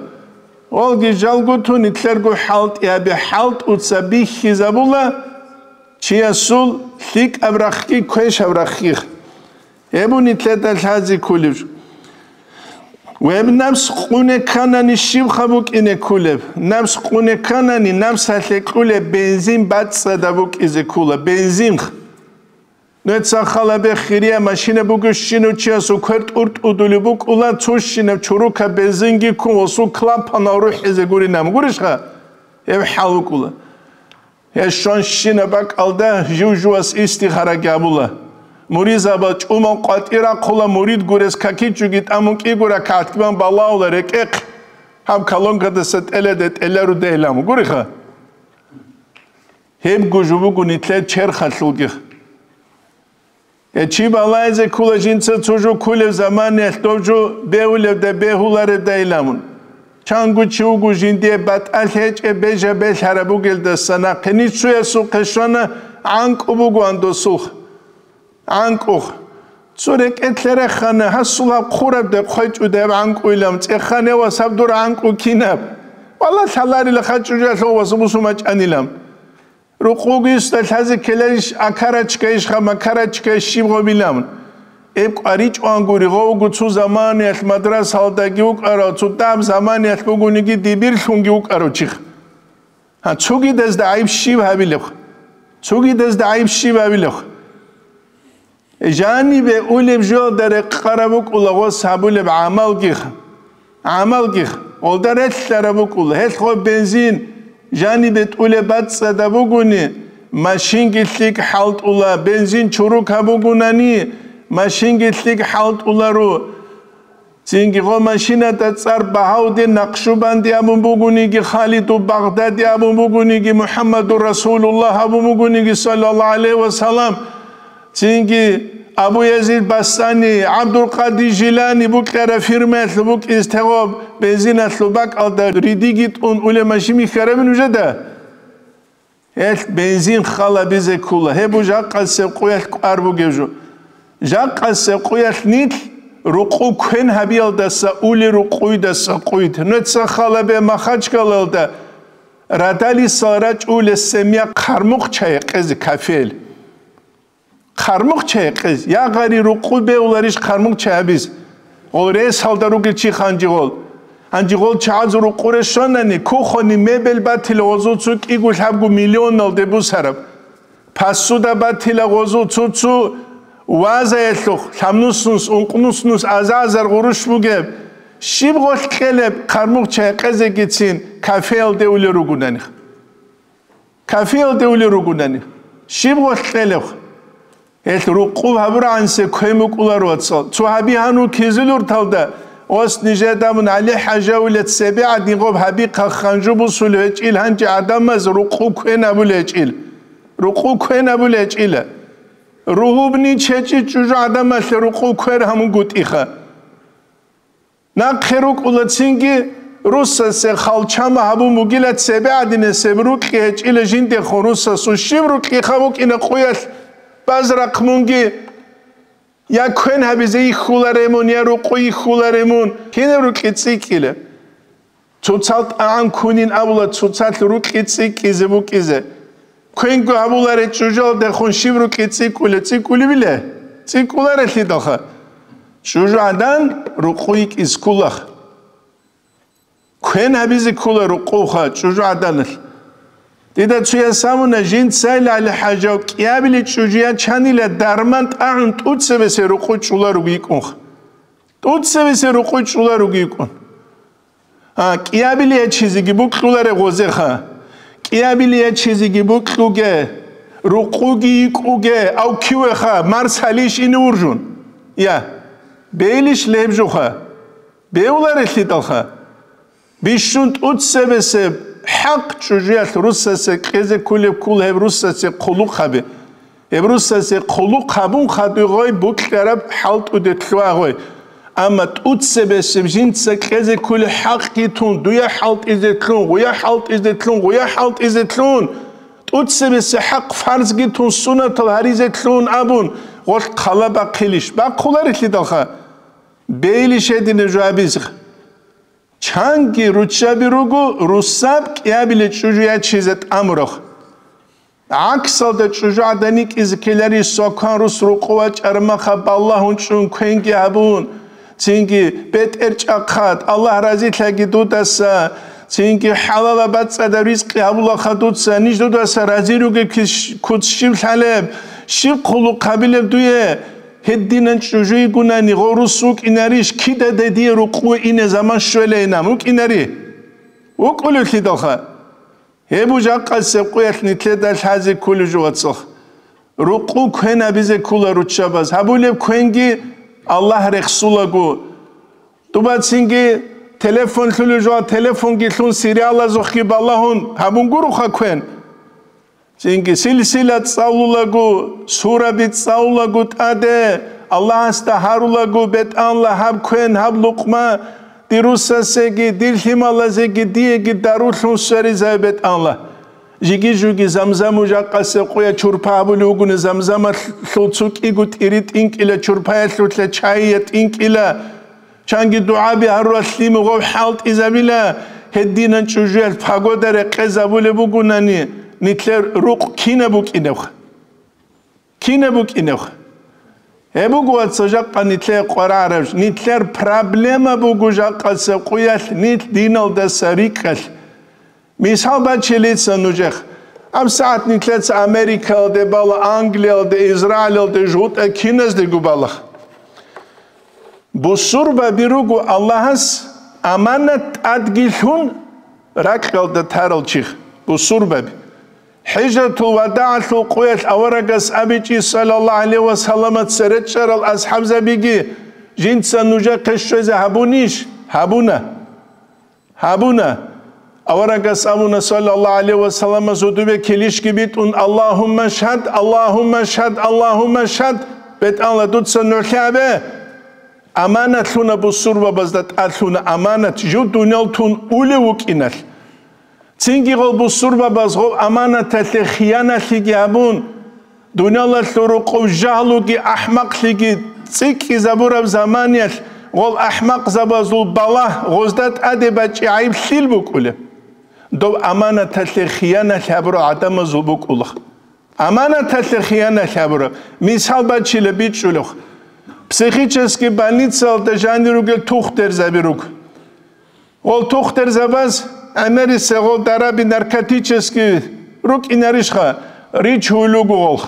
Олги жалгутун нилъерго хӀалтӀи гьабе, хӀалтӀуца бихьизабула чиясул ЛъикӀаб рахъги, квешаб рахъги. Гьеб нилъеда лъазе кколеб жо. Гьеб напс къуне кканани щибха букӀине кколеб? Напс къуне кканани, напсалъе кьулеб бензин бацӀцӀадаб букӀизе ккола, бензин. Нуца халабе хирия машина бугебщинав чиясул квер тӀуртӀудулеб букӀула, цущинаб чурукаб бензинги ккун, гъосул клапанал рухӀизе гуринаб гурищха? Гьеб хӀал букӀула. Гьеб щванщинаб бакӀалда жив-живас истихараги гьабула. Муридзабаз чӀумал къватӀир рахъула, мурид гурес какичуги тӀамун кӀиго ракагӀат кибан балагьула рекӀехъ, гьаб колонкадаса тӀеледе тӀеларудейилан гуриха. Гьебго жо буго нилъер черхалъулги. Гье, чи балагьизе ккула жинца цо жо кколеб заманаялъ доб жо бегьулебда, бегьуларебдайилан. Чанго чи вуго жиндие батӀалъи гьечӀеб бежа-белъараб бугелдаса нахъе ниж цоясухъе щвана, гӀанкӀу бугоан досулха. ГӀанкӀуха. Цо рекӀелъе рехана, гьасул гьаб хъураб де хъвечӀуда гьаб гӀанкӀуйилан, цӀеханевас гьаб дур гӀанкӀу кинаб? Валла, лъаларила хъачӀужалъув вас бусумачӀанилан. Рукъуги йисда лъазе ккеларищ, акарачкайищха, макарачкайищ щиб гъобилан? Эб кӀваричӀоан гури, гъовго цо заманаялъ мадрасалдаги вукӀарав, цо даб заманаялъ бугониги дибирлъунги вукӀарав чиха. Гьа, цогидазда гӀайиб щиб гьабилебха? Цогидазда гӀайиб щиб гьабилебха? Жанибе улеб жоялда рекъараб букӀула гъос гьабулеб гӀамалгих, гӀамалгих, гъолда релълъараб букӀула, гьелъго бензин жанибе тӀулеб бацӀцӀадаб бугони, машинги лъикӀ хӀалтӀула, бензин чурукаб бугунани, машинги лъикӀ хӀалтӀуларо. Цинги гъо машинада цӀар Багьаудин Накъшубанди абун бугониги, Халиду Багъдади абун бугониги, МухӀаммадур Расулуллагь абун бугониги, саллаллагьу гӀалайгьи ва саллам, цинги Абу Язид Бастани, ГӀабдулкъадир Жилани букӀараб фирмаялъул букӀиз тегъоб бензиналъул бакӀалда ридиги тӀун улеб машин бихьарабин нужеда? Гьелъ бензин халабизе ккула. Гьеб бу жакъасеб къуялъ кӀвар бугеб жо. Жакъасеб къуялъ нилъ рукъу квен гьабиялдаса ули рукъуйдаса къуйд. Нуца халабе Махачкалалда радалисал рачӀулес семья хъармухъ чай гьекъезе кафел. Хъармухъ чай гьекъез, я гъари рукъу бегьуларищ хъармухъ чай гьабиз? Гъол ресалда ругел чи ханжи гъол. Гьанжи гъол чагӀазул рукъу рещанани, кухонный мебель батила гъозул цо кӀиго лъабго миллионалде бусараб. Посуда батила гъозул цо-цо вазаялъухъ, лъабнусунус, ункънусунус азар-азар гъурущ бугеб. Щиб гъолъ кьелеб хъармухъ чай гьекъезегицин кафеялде улел ругунани? Кафеялде улел ругунани, щиб гъолъ кьелеб? Гьелъ рукъу гьабурагӀансе квен букӀуларо, вацал. Цо гьаби гьанул кизилурталда, ос нижеда мун ГӀали-хӀажавила цебе гӀадин гъоб гьаби хъахъанжу бусулев гьечӀил гьанчи гӀадамаз рукъу квен абулей гьечӀил. Рукъу квен абулей гьечӀила. Ругьубни чечӀи чӀужу гӀадамалъе рукъу квер гьамунгутӀиха. Нахъе рукӀула цинги, руссасе халчама гьабун бугила цебе гӀадинасеб рукьи гьечӀила жиндехун руссасул щиб рукьиха букӀина къуялъ базрахъ мунги, я квен гьабизе йихьуларе мун, я рукъу йихьуларе мун, кинаб рукьи цӀикӀкӀила? Цоцал тӀагӀам кунин абула, цоцалъ рукьи цӀикӀкӀизе букӀизе. Квенго гьабуларе чӀужалдехун щиб рукьи цӀикӀкӀула, цӀикӀкӀулебила? ЦӀикӀкӀуларелъидалха. ЧӀужугӀадан рукъу йикӀиз ккулах. Квен гьабизе ккула рукъуха чӀужугӀаданалъ. Дида цуяс абуна, жинцайилали хӀажав кӀиабили чӀужу ячанила дарман тӀагӀун тӀуцебесе рукъу чӀула ругикӀунха. ТӀуцебесе рукъу чӀула ругикӀун. А, кӀиабили ячизеги букьуларе гъозеха. КӀиабили ячизеги букьуге, рукъуги йикӀуге, ав кивеха, марс гьалищ ине уржун? Я, бейлищ леб жуха? Беуларелъидалха. Бищун тӀуцебесеб хӀакъ чӀужуялъ руссасе кьезе ккулеб ккула гьеб руссасе хъулухъаби. Гьеб руссасе хъулухъ гьабун хадуй гъой букьараб хӀалтӀуде лъугьа гъой. Амма тӀуцебесеб жинца кьезе ккулеб хӀакъги тун, дуя хӀалтӀизе лъун, гъуя хӀалтӀизе лъун, гъуя хӀалтӀизе лъун, тӀуцебесеб хӀакъ фарзги тун, суннатал гьаризе лъун абун, гъолъ хъала бахъилищ? Бахъуларелъидалха. Бейлищ гьединаб жо гьабизеха. Чанги руччаби руго, руссаб кӀиабиле чӀужу ячизе тӀамурах. ГӀаксалда чӀужугӀадан йикӀизе ккеларищ, свакан рус рукъу вачӀараб махаб балагьун чӀун квенги гьабун, цинги бетӀер чӀахъад, Аллагь разилъаги дудаса, цинги хӀалалаб бацӀцӀадаб ризкъи гьабулаха дуца, ниж дудаса рази ругеб кис-, куц щиб лъалеб, щиб хъулухъ гьабилеб дуе? Гьединан чӀужуйгунани гъов рус вукӀинарищ, кидадай дие рукъу ине заман щвелейинан вукӀинари? ВукӀулевлъидалха? Гьеб жакъасеб къуялъ нилъеда лъазе кколев жо, вацал. Рукъу квен гьабизе ккола руччабаз. Гьабулеб квенги Аллагь рехсулаго. Дуба цинги телефон лъулев жо, телефонги лъун сериалазухъги балагьун гьабун гуроха квен. Цинги силсила цӀалулаго, сураби цӀалулаго тӀаде, Аллагьасда гьарулаго, бетӀанла гьаб квен, гьаб лукъма, дир русасеги, дир лъималазеги, диеги дарулъун сверизай бетӀанла. Жиги-жуги Замзаму жакъасеб къуя чурпа гьабулев вугони, Замзамалъул цу кӀиго тӀири тӀинкӀила, чурпаялъулъа чайя тӀинкӀила. Чанги дугӀаби гьарурал лъимугъав хӀалтӀизабила, гьединан чӀужуялъ пагода рекъезабулеб бугунани, нилъер рукъ кинаб букӀинебха? Кинаб букӀинебха? Гьеб буго, вацал, жакъа нилъее къварагӀараб, нилъер проблема буго жакъасеб къуялъ нилъ диналдаса рикӀкӀалъ. Мисал бачилица нужех. АбсагӀат нилъеца Америкалде бала, Англиялде, Израилалде, жугьутӀа киназдего балагь. Бусурбаби руго Аллагьас аманат тӀадги лъун ракьалда тарал чих, бусурбаби. ХӀижратул вадагӀалъул къуялъ аварагас абичӀи, саллаллагьу гӀалайгьи ва салламат, цере чӀарал асхӀабзабиги, жинца нужехъе щвезе гьабунищ? Гьабуна. Гьабуна. Аварагас абуна, саллаллагьу гӀалайгьи ва саллама, зодубе килищги битӀун: «Аллагьумма шгьад, Аллагьумма шгьад, Аллагьумма шгьад, бетӀалла, дуца нугӀлъи гьабе». Аманат лъуна бусурбабазда, тӀад лъуна аманат, жив дуниял тун улев вукӀиналъ. Цинги гъол бусурбабаз гъов аманаталъе хияналъиги гьабун, дуниялалъул рукъов жагьлуги ахӀмакълъиги цӀикӀкӀизабураб заманиялъ гъол ахӀмакъзабазул балагь гъозда тӀаде бачӀи гӀайиблъил букӀулеб? Дов аманаталъе хияналъ гьабурал гӀадамазул букӀула. Аманаталъе хияналъ гьабураб. Мисал бачила бичӀчӀулев. Психический больницаялда жанир ругел тухтерзаби руго. Гъол тухтерзабаз гӀемерисе гъол дараби наркотический рукӀинарищха, рич гьуйлугу гъолх.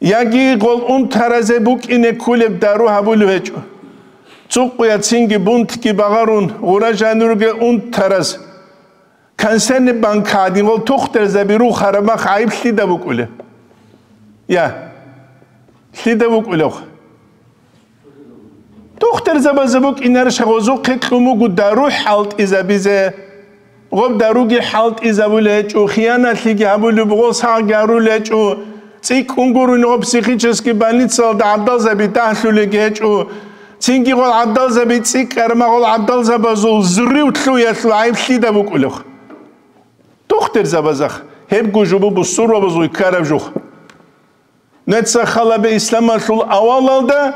Яги гъол унтаразе букӀине ккулеб дару гьабулев гьечӀо. Цукъуя цинги бунтги багъарун, гъура жанирги унтараз, консервный банка гӀадин гъол тухтерзаби рухараб мах гӀайиб лъида букӀулеб? Я, лъида букӀулев? Тухтерзабазда букӀинарищ гъозухъе кьун буго дару хӀалтӀизабизе. Гъоб даруги хӀалтӀизабулей гьечӀо, хияналъиги гьабулеб, гъос гьагъги гьарулей гьечӀо. ЦӀикӀкӀун гурони гъоб психический больницаялда гӀабдалзаби дагьлъулеги гьечӀо. Цинги гъол гӀабдалзаби цӀикӀкӀарма гъол гӀабдалзабазул зуррив лъуялъул гӀайиб лъида букӀулев? Тухтерзабазах, гьебго жубу бусурбабазул ккараб жух. Нуца халабе исламалъул авалалда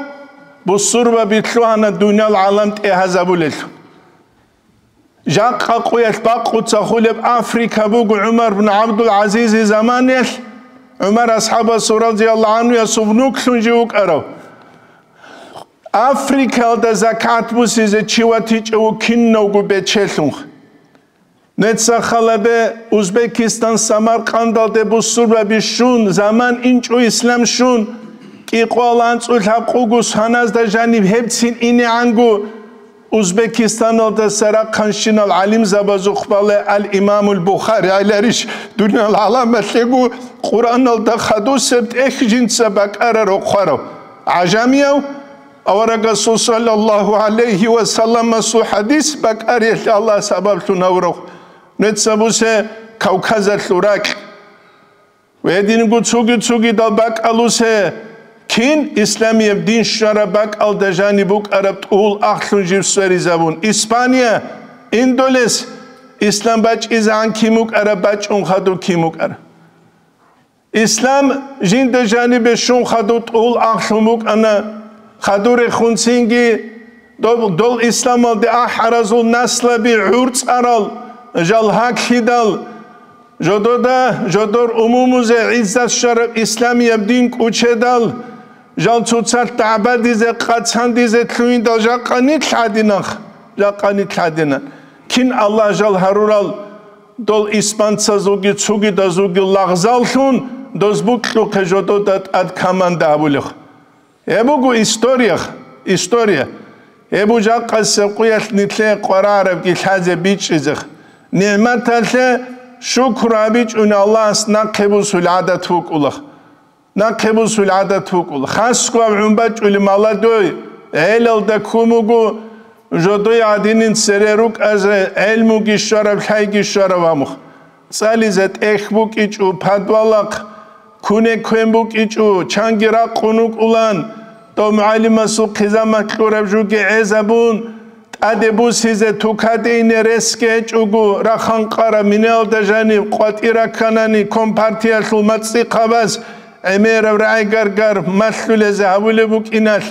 бусурбаби лъугьана дуниял гӀалам тӀегьазабулелъул. Жакъа къуялъ бакъуца хулеб Африка буго ГӀумар бин ГӀабдул-ГӀазизи заманиялъ, ГӀумар асхӀабасул радияллагьу гӀанхуясул внуклъун жив вукӀарав. Африкалда закат бусизе чи ватичӀев вукӀинавго бечелъунха. Нуца халабе Узбекистан Самаркъандалде бусурбаби щун, заман инчӀо ислам щун, кӀикъоялда анцӀго лъабкъого соназда жаниб гьебцин инегӀанго, Узбекистаналдаса рахъанщинал гӀалимзабазухъ бале ал-Имамул Бухари гӀеларищ, дуниял гӀаламалъего Къуръаналда хадусеб тӀехь жинца бакӀарарав хъварав гӀажамияв, Аварагасул саллаллагьу гӀалайгьи ва салламасул хӀадис бакӀариялъе Аллагь сабаблъун гьавурав. Нуца бусе Кавказалъул ракь. Гьединго цуги-цугидал бакӀалусе, кин исламияб дин щвараб бакӀалда жаниб букӀараб тӀугьул ахълъун жив сверизабун. Испания, Индолес, ислам бачӀизегӀан кин букӀараб, бачӀун хадуб кин букӀараб. Ислам жинда жанибе щун хадуб тӀугьул ахълъун букӀана, хадурехунцинги дол, дол исламалде ахӀаразул наслаби гӀурцӀарал, жал гьаклъидал, Жодода, жодор умумузе гӀиззат щвараб исламияб дин кӀучедал, жал цоцалъ дагӀбадизе, къацандизе лъугьиндал жакъа нилъ гӀадинанха, жакъа нилъ гӀадинан. Кин Аллагь жал гьарурал, дол испанцазулги цугидазулги лагъзаллъун, доз букьухъе жодода тӀад команда гьабулех. Гьеб буго история, история. Гьеб буго жакъасеб къуялъ нилъее къварарабги лъазе бичӀчӀизех. НигӀматалъе шукру гьабичӀони Аллагьас нахъе бусул гӀадат букӀулах. Нахъе бусул гӀадат букӀул. Хасго гьаб гӀун бачӀулеб маладой, гӀелалда ккун буго, жодой гӀадинин цере рукӀазе, гӀелмуги щвараб, лъайги щвараб амухъ. ЦӀализе тӀехь букӀичӀо, подвалахъ куне квен букӀичӀо, чанги ракъун вукӀулан, дов мугӀалимасул хъизамат кьураб жуги гӀезабун, тӀаде бусизе тукаде ине ресги гьечӀого, рахъан къараб минелда жаниб къватӀир ракканани, компартиялъул мацӀихъабаз гӀемераб рагӀи-гаргар малъулезе гьабулеб букӀиналъ,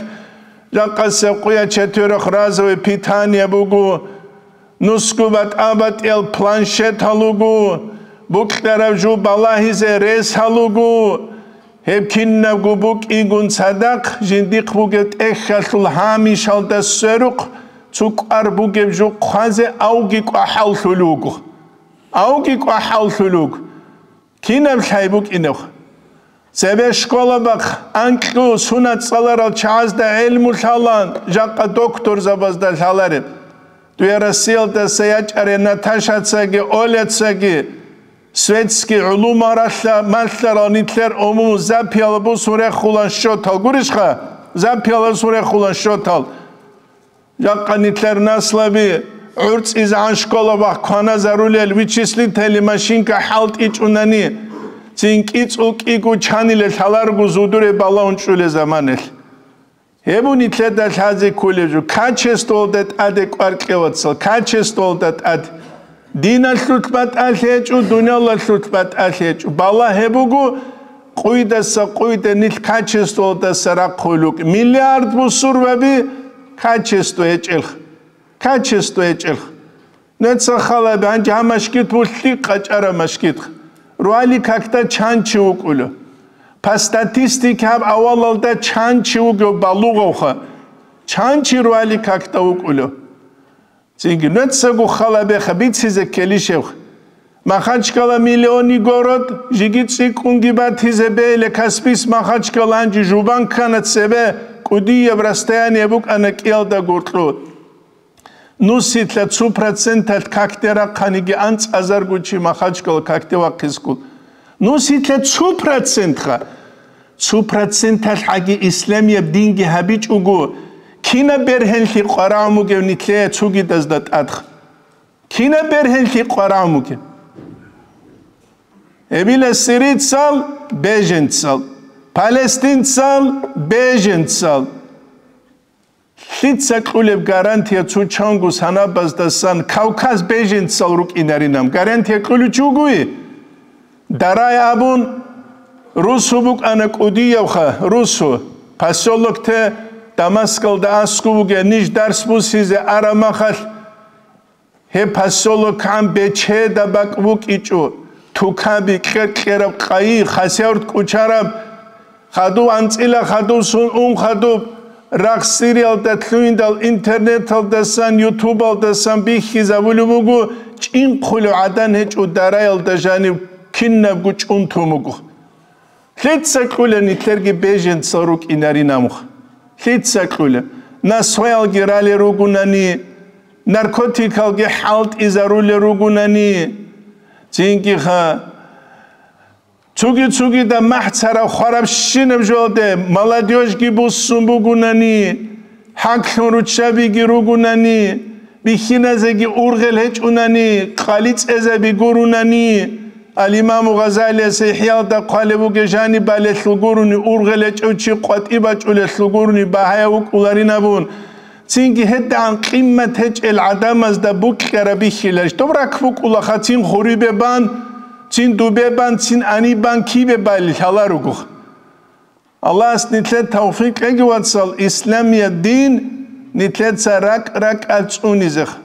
жакъасеб къуя четверохразовое питание буго. Нусго батӀа-батӀиял планшетал руго, букьараб жо балагьизе ресал руго, гьеб кинабго букӀигун цадахъ жиндихъ бугеб тӀехьалъул гьамишалда сверухъ цо кӀвар бугеб жо хъвазе авги кӀвахӀаллъулеб буго. Авги кӀвахӀаллъулеб буго. Кинаб лъай букӀинеб? Цебе школабахъ анкьу сунат цӀаларал чагӀазда гӀелму лъалан, жакъа докторзабазда лъалареб. Дуе Россиялдаса ячӀарай Наташацаги Оляцаги светский гӀулумал ралъа-, малъарал нилъер умуму запияла бусун рехулан счётал. Гурищха? Запияла бусун рехулан счётал. Жакъа нилъер наслаби гӀурцӀизегӀан школабахъ кваназарулел вычислительный машинка хӀалтӀичӀунани, цин кӀицӀул кӀиго чаниле лъаларго зудуре балагьун чӀулел заманалъ. Гьеб буго нилъеда лъазе кколеб жо, качествоялда тӀаде кӀвар кье, вацал, качествоялда тӀаде. Диналъулъ батӀалъи гьечӀо, дуниялалъулъ батӀалъи гьечӀо. Балагь гьеб буго, къуйдаса къуйда нилъ качествоялдаса рахъулел рукӀ. Миллиард бусурбаби качество гьечӀелха. Качество гьечӀелха. Нуца халаби, гьанже гьаб машгид буго лъикӀ къачӀараб машгидха. Руали какда чан чи вукӀулев? По статистике гьаб авалалда чан чи вугев балугъавха? Чан чи руали какда вукӀулев? Цинги нуцаго халабеха бицизе ккелищевха. Махачкала миллионный город, жеги цӀикӀкӀунги батизе бегьила Каспийск Махачкала гьанже жубан ккана цебе, кӀудияб расстояние букӀана кӀиялда гуркьу. Нусилъа цо проценталъ какде рахъаниги анцӀазарго чи Махачкала какде вахъискул. Нусилъа цо процентха. Цо проценталъ гӀаги исламияб динги гьабичӀого, кинаб бергьенлъи къварагӀун бугев нилъее цогидазда тӀадха? Кинаб бергьенлъи къварагӀун бугев? Гьебила сирийцал беженцал, палестинцал беженцал. Лъица кьулеб гарантия цо чанго санабаздасан Кавказ беженцал рукӀинаринан? Гарантия кьулев чи вугои? Дарай абун, русу букӀана кӀудиявха, русу, посёлокте Дамаскалда аскӀов вугев, ниж дарс бусизе араб махалъ, гьеб посёлокгӀан бечеда бакӀ букӀичӀо, тукаби, кьер-кьераб къайи, хасяврт кӀучараб, хадув анцӀила хадув сун ун хадуб, рахъ Сириялда лъугьиндал интернеталдасан, ютубалдасан бихьизабулеб буго, чӀинхъулев гӀадан гьечӀо дараялда жанив кинабго чӀунтун буго. Лъица кьула нилъерги беженцал рукӀинарин амух? Лъица кьула? Насваялги ралел ругунани, наркотикалги хӀалтӀизарулел ругунани, цинги-ха, цуги-цугида махӀ цараб хварабщинаб жоялде молодёжьги буссун бугунани, хӀаклъун руччабиги ругунани, бихьиназеги ургъел гьечӀунани, къали цӀезаби гурунани, Ал-Имаму Гъазалияс ИхӀялда хъвалеб бугеб жаниб балелъул гурони, ургъел гьечӀев чи къватӀи бачӀулелъул гурони багьаяб вукӀуларин абун, цинги гьедигӀан къимат гьечӀел гӀадамазда букьараб бихьиларищ? Доб ракӀ букӀулаха, цин хурибе бан, цин дубе бан, цин гьаниб бан кибе балел лъаларогох. Аллагьас нилъер тавфикъ кьеги, вацал, исламияб дин нилъеца ракӀ-ракӀалъ цӀунизеха.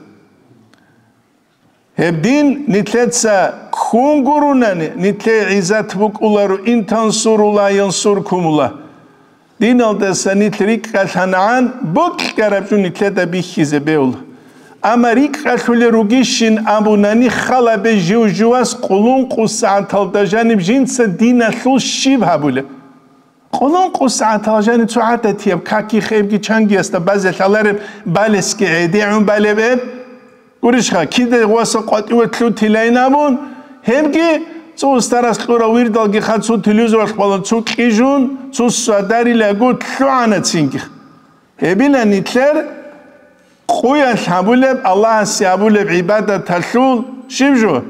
Гьеб дин нилъеца ккун гурунани, нилъее гӀиззат букӀуларо, ин тансурулла янсуркумулла. Диналдаса нилъ рикӀкӀалъанагӀан бокьараб жо нилъеда бихьизе бегьула. Амма рикӀкӀалъулел ругищин абунани, халабе жив-живас къулункъу сагӀаталда жаниб жинца диналъул щиб гьабулеб? Къулункъу сагӀатал жаниб цо гӀадатияб какихъебги чангиясда базе лъалареб балесги гӀедегӀун балеб гьеб? Гурищха, кида гъваса къватӀиве лъутилайин абун, гьебги цо устарас кьурав вирдалги ха цо телевизоралъ балан цо кьижун, цо садарилаго лъугӀана цинги. Гьебила нилъер къуялъ гьабулеб, Аллагьасе гьабулеб гӀибадаталъул щиб жо?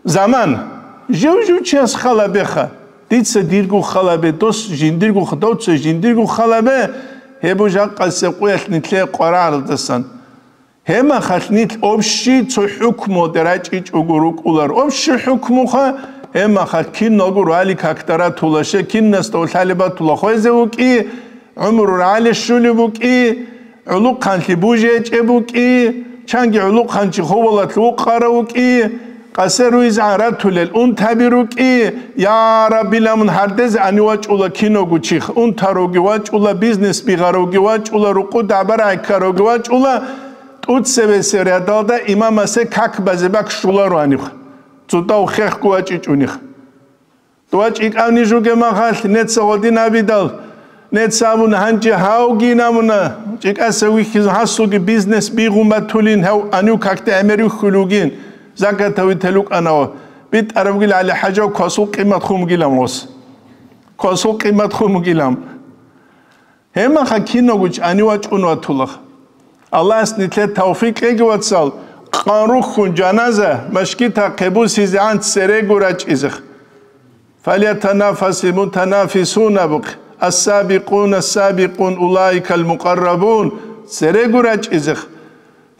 Заман. Жив-жив чияс халабеха. Дица дирго халабе, дос жиндирго ха-, довца жиндирго халабе, гьеб жакъасеб къуялъ нилъее къварагӀаралдасан. Гьебмахалъ нилъ общий цо хӀукмуде рачӀичӀого рукӀулар. Общий хӀукмуха, гьебмахалъ киналго рали какдаратула, ше кинасда лъалебатула хвезе вукӀи, гӀумру рагӀале щулеб букӀи, гӀулухъанлъи бужечӀеб букӀи, чанги гӀулухъанчи ховалалъ вукъарав вукӀи, къасе руйзгӀан ратулел унтаби рукӀи, я Раббилан мун гьардезе ани вачӀула киного чиха, унтаровги вачӀула, бизнес бигъаровги вачӀула, рукъу дагӀбарай ккаровги вачӀула, тӀуцебесеб рядалда имамасе как базе бакӀ щуларо гьаниб, цо дов хехго вачӀичӀунихъ. Дова чӀикӀавни жуге махалъ, неца гъодин абидал, неца абун гьанже гьавги намуна, чӀикӀаса вихьизун гьасулги бизнес бигъун батулин, гьав анив какде гӀемер вихьулев вугин, закатав вител вукӀанав, битӀарабгил гӀали хӀажав квасул къимат хумгилан гъос. Квасул къимат хумгилан. Гьемаха киного чӀани вачӀун ватулах. Аллагьас нилъер тавфикъ кьеги, вацал, къан рухьун жаназа машгитахъе бусизегӀан церего рачӀизех. Фалятанафасил мутанафисун абухъ, ас-сабикъун, ас-сабикъун, улаикал мукъаррабун, церего рачӀизех.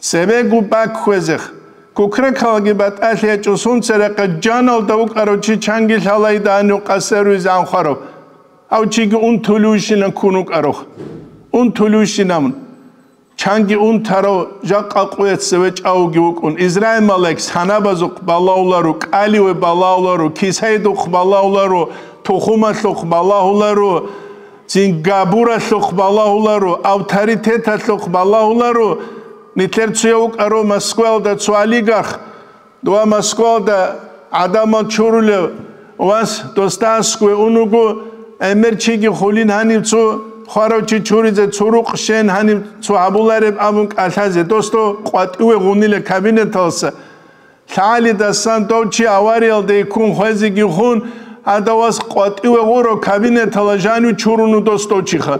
Цебего бакквезех. Кукракалги батӀалъи гьечӀо, сунцерехъе жаналда вукӀарав чи чанги лъалайда гьанив къасеруйзе анхъварав. Гьав чиги унтулевщинан ккун вукӀарав. Унтулевщинан. Чанги унтарав жакъа къуяц цеве чӀавуги вукӀун. Израил малаикс гьанабазухъ балагьуларо, кӀаливе балагьуларо, кисайдухъ балагьуларо, тухумалъухъ балагьуларо, цин габуралъухъ балагьуларо, авторитеталъухъ балагьуларо. Нилъер цуяв вукӀаро Москваялда цо олигарх, дова Москваялда гӀадамал чурулев вас, досда аскӀове унуго, гӀемер чиги хулин гьанив цо хварав чи чуризе, цо рукъ щен гьанив цо гьабулареб абун кӀалъазе, досда къватӀиве гъунила кабинеталса. ЛъагӀалидасан дов чи авариялде ккун хвезеги хун, гьадав вас къватӀиве гъуро кабинетала жанив чуруну дос дов чиха.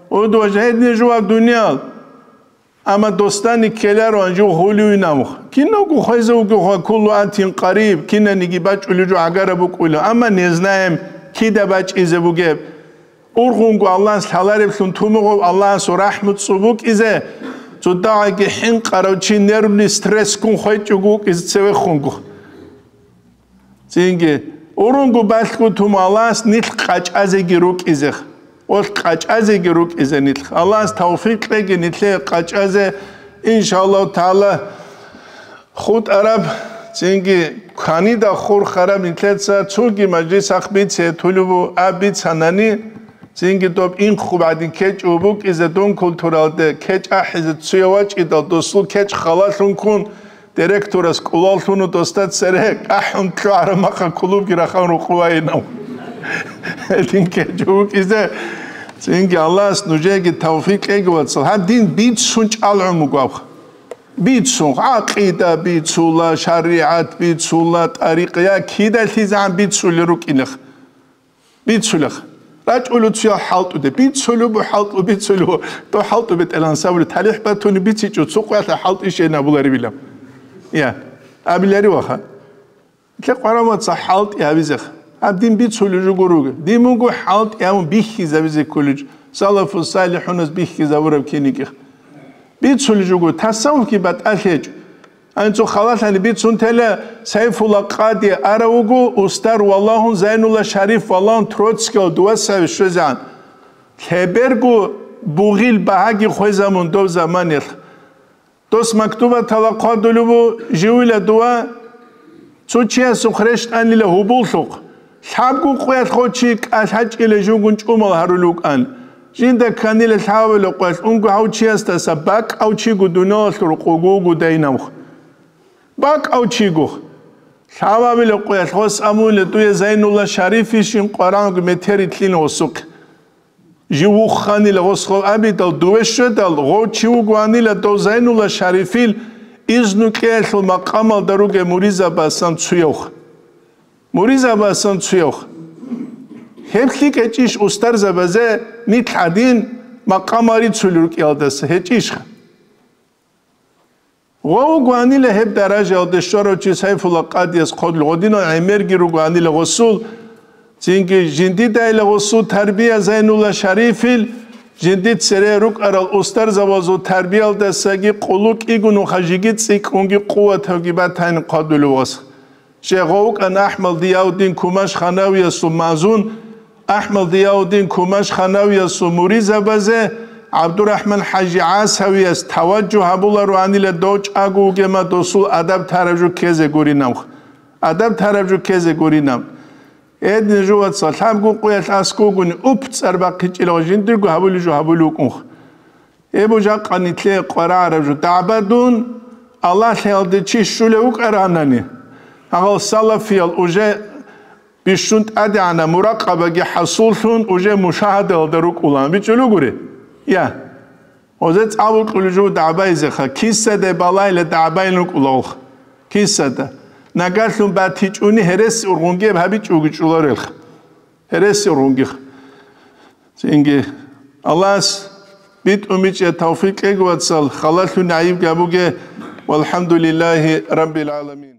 Удва жагьидне жуваб дуниял. Амма досдани ккеларо гьанжев гьулюй намух. Киналго хвезе вугевха, куллу атин къариб, кинаниги бачӀулев жо гӀагараб букӀула. Амма не знаем, кида бачӀизе бугеб. Ургъунго Аллагьас лъалареблъун тумугъав Аллагьасул рахӀму цӀубукӀизе, цо дагьаги хӀинкъарав чи нервный стрессгун хвечӀого вукӀизе цевехунго. Цинги, ургъунго балъго туму Аллагьас нилъ къачӀазеги рукӀизех. Олъ къачӀазеги рукӀизе нилъ. Аллагьас тавфикъ кьеги нилъее къачӀазе, иншаллагьу тагӀала. ХутӀараб, цинги кванида хурхараб нилъеца цоги мажлисахъ бице тулубу аб бицанани, цинги доб инхъуб гӀадин кечӀо букӀизе дун культуралде кечӀ ахӀизе цуя вачӀидал досул кечӀ халалъун ккун, директорас кӀулаллъуну досда цере кӀахӀун кьогӀараб махъа клубги рахан рукъувайинав. Гьедин кечӀо букӀизе, цинги Аллагьас нужееги тавфикъ кьеги, вацал. Гьаб дин бицун чӀалгӀун буго абха. Бицун, гӀакъида бицула, шаригӀат бицула, тӀарикъа, я кидалъизегӀан бицулел рукӀинех. Бицулех. РачӀулев цуял хӀалтӀуде. Бицулев бу хӀалтӀу, бицулев бу. Дов хӀалтӀу бетӀелан сабури талихӀ батуни бицичӀо, цо къоялъа хӀалтӀи щейин абуларевилан. Я, абилари ваха. Лъе къварамаца хӀалтӀи гьабизех. Гьаб дин бицулев жо гуруге. Дин буго хӀалтӀи гьабун бихьизабизе кколев жо. Салафу салихӀунас бихьизабураб киникӀих. Бицулев жо гуро, тасаввуфги батӀалъи гьечӀо. Гьанцо халалъани бицун тела, Сайфулла Къади арав вуго, устар валагьун Зайнулла Шариф валагьун Троцкиял дувасави щвезегӀан. Лъеберго бугъил багьаги хвезамун дов заманиялъ. Дос мактубатала хъвадулеб бу, живила дова, цо чиясухъ рещтӀанила гьубуллъухъ, лъабго къоялъ гъо чи кӀалъачӀила живгун чӀумал гьарулев вукӀан. Жинда кканила лъабабила къоялъ унго гьав чиясдаса бакӀав чиго дуниялалъул рукъуго вуго дайнавх. БакӀав чигох. Лъабабила къоялъ гъос абула дуе Зайнулла Шарифишин къваранго метери лъин гъосухъ. Жив вуханила гъос гъов абидал, дуве щведал, гъов чи вугоанила дов Зайнулла Шарифил изну кьеялъул макъамалда ругел муризабасан цуявх. Муризабасан цуявх. Гьеб лъикӀ гьечӀищ устарзабазе нилъ гӀадин макъамал рицулел рукӀиялдаса? ГьечӀищха? Гъов вугоанила гьеб даражаялде щварав чи Сайфулла Къадияс хъвадулев, гъодинал гӀемерги ругоанила гъосул, цинги жиндидайила гъосул тарбия Зайнулла Шарифил, жинди цере рукӀарал устарзабазул тарбиялдасаги къулу кӀигун вуха жиги цӀикӀкӀунги къуватавги батани хъвадулев вас. Щегъов вукӀана АхӀмад Зияуддин Кумаш-Ханавиясул мазун, АхӀмад Зияуддин Кумаш-Ханавиясул муризабазе ГӀабдурахӀман ХӀажи ГӀасавияс таваджугь гьабулароанила дов чӀаго вугема досул адаб тараб жо ккезе гуринавх. Адаб тараб жо ккезе гуринав. Эдин жувацал лъабго къуялъ аскӀугуни уп цӀар бахъичӀила ва жиндирго гьабулеб жо гьабулев вукӀунх. Эбу жакъа нитлъе къварагӀараб жо дагӀбадун, Аллагьлъиялде чи щулев вукӀаранани, гьагъал салафиял уже бищун тӀадегӀанаб муракъабаги хӀасуллъун, уже мушагьадалда рукӀулан бичӀчӀулугури? Я. Озе цӀалукьулев жо дагӀбайзеха, кисаде балайла дагӀбайин рукӀулаулха. Кисада. Нагагьлъун батичӀони гьереси ургъунгеб гьабичӀого чӀоларелха. Гьереси ургъунгеха. Цинги Аллагьас битӀун бичӀчӀа тавфикъ кьеги, вацал, халалъун гӀайиб гьабуге. ВалхӀамдулиллагьи раббил гӀаламин.